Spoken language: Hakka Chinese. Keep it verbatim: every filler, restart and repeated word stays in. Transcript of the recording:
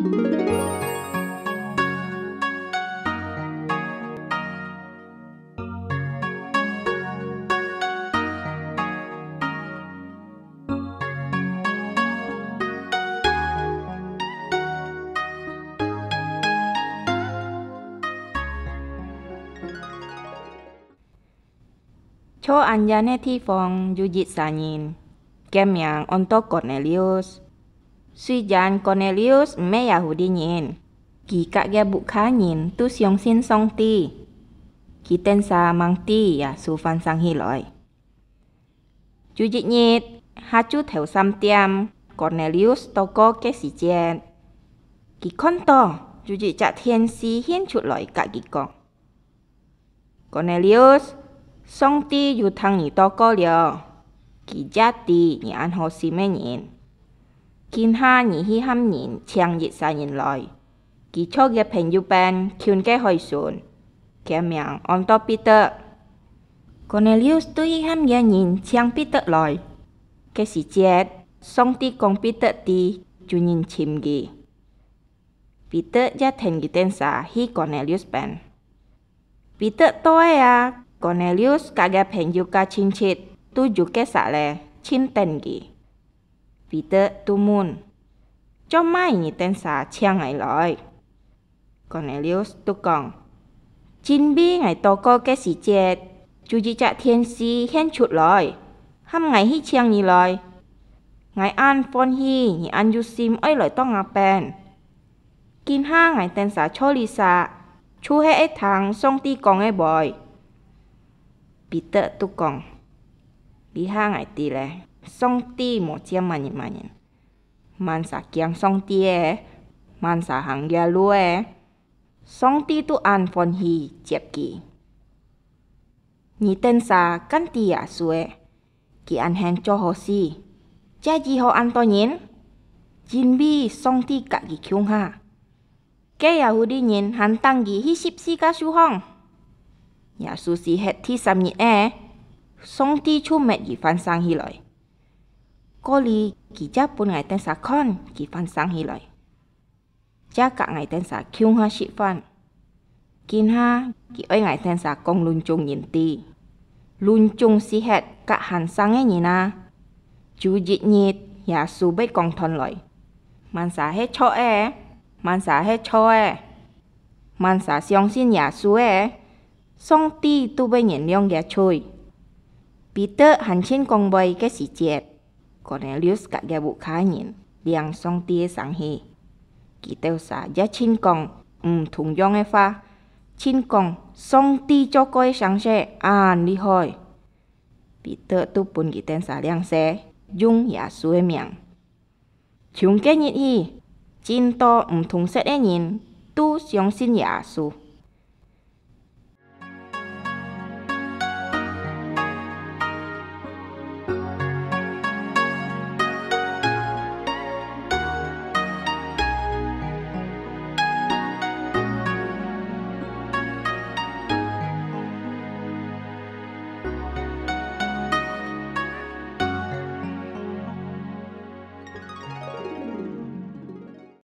在恁遠个地方有一儕人，厥名安到Cornelius。雖然Cornelius毋係Yahudi人，佢佮厥屋下人都相信上帝。佢等儕吂知Yêsu翻生起來。有一日，下晝頭三點，Cornelius禱告个時節，佢看到有一隻天使現出來佮佢講：「Cornelius，上帝有聽你禱告了，佢也知你恁好心个人。今下你去喊人請一儕人來，佢在厥朋友邊近个海脣，厥名安到彼得。」Cornelius就去喊厥人請彼得來。个時節，上帝講彼得知有人尋佢。彼得也跈佢等儕去Cornelius邊。彼得到个啊，Cornelius佮厥朋友佮親戚都有結煞咧，盡等佢。彼得就問：「做麼你等儕請𠊎來？」Cornelius就講：「因為𠊎禱告个時節，就一隻天使現出來，喊𠊎去請你來。𠊎恁歡喜，你恁有心愛來到吾邊。今下𠊎等儕在這儕，就係愛聽上帝講个話。」彼得就講：「這下𠊎知咧，上帝無接麼人麼人，麼儕驚上帝个，麼儕行厥路个，上帝都恁歡喜接佢。」你等儕敢知耶穌个，佢恁肯做好事，這醫好恁多人，因為上帝佮佢共下。該Yahudi人還釘佢去十字架樹項。耶穌死忒第三日仔，上帝就搣佢翻生起來。過哩佢正分𠊎等儕看佢翻生起來。 正佮𠊎等儕共下食飯。今下佢愛𠊎等儕講分眾人知，分眾死忒佮還生个人啊，有一日耶穌會講斷來，麼儕係著个，麼儕係錯个，麼儕相信耶穌个， 上帝都會原諒厥罪。彼得還盡講話个時節，Cornelius佮厥屋下人領上帝个聲去。佢兜儕也盡講毋同樣个話，盡講上帝做過个神蹟恁厲害。彼得都分佢等儕領洗，用耶穌个名。 從該日起，盡多毋同色个人都相信耶穌。